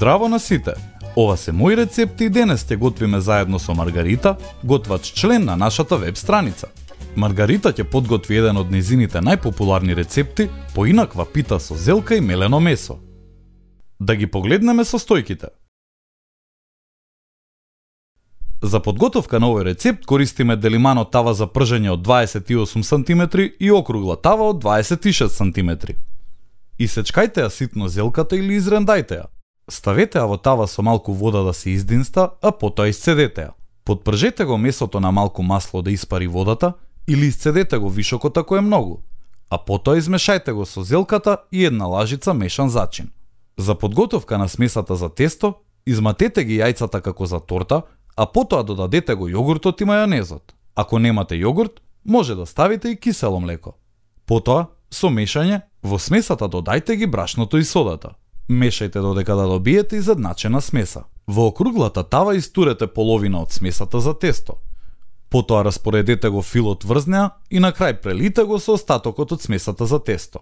Здраво на сите! Ова се мои рецепти и денес ќе готвиме заедно со Маргарита, готвач член на нашата веб страница. Маргарита ќе подготви еден од незините најпопуларни рецепти, поинаква пита со зелка и мелено месо. Да ги погледнеме состојките. За подготовка на овој рецепт користиме делимано тава за пржење од 28 см и округла тава од 26 см. Исечкајте ја ситно зелката или изрендајте ја. Ставете ја во тава со малку вода да се издинста, а потоа исцедете ја. Подпржете го месото на малку масло да испари водата или исцедете го вишокот ако е многу, а потоа измешајте го со зелката и една лажица мешан зачин. За подготовка на смесата за тесто, изматете ги јајцата како за торта, а потоа додадете го јогуртот и мајонезот. Ако немате јогурт, може да ставите и кисело млеко. Потоа, со мешање, во смесата додајте ги брашното и содата. Мешајте додека да добиете изедначена смеса. Во округлата тава истурете половина од смесата за тесто. Потоа распоредете го филот врз неа и на крај прелите го со остатокот од смесата за тесто.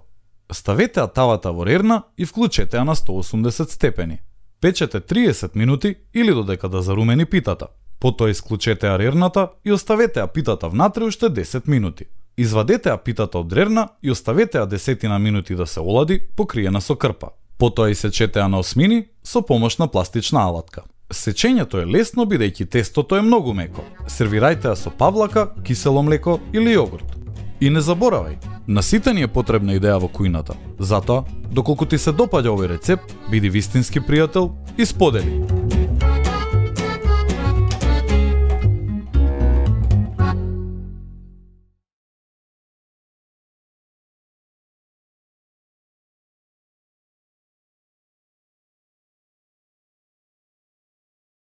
Ставете ја тавата во рерна и вклучете ја на 180 степени. Печете 30 минути или додека да зарумени питата. Потоа исклучете ја рерната и оставете ја питата внатре уште 10 минути. Извадете ја питата од рерна и оставете ја 10 минути да се олади, покриена со крпа. Потоа исечете ја на осмини со помош на пластична алатка. Сечењето е лесно бидејќи тестото е многу меко. Сервирајте ја со павлака, кисело млеко или јогурт. И не заборавај, на сите ни е потребна идеја во кујната. Затоа, доколку ти се допаѓа овој рецепт, биди вистински пријател и сподели.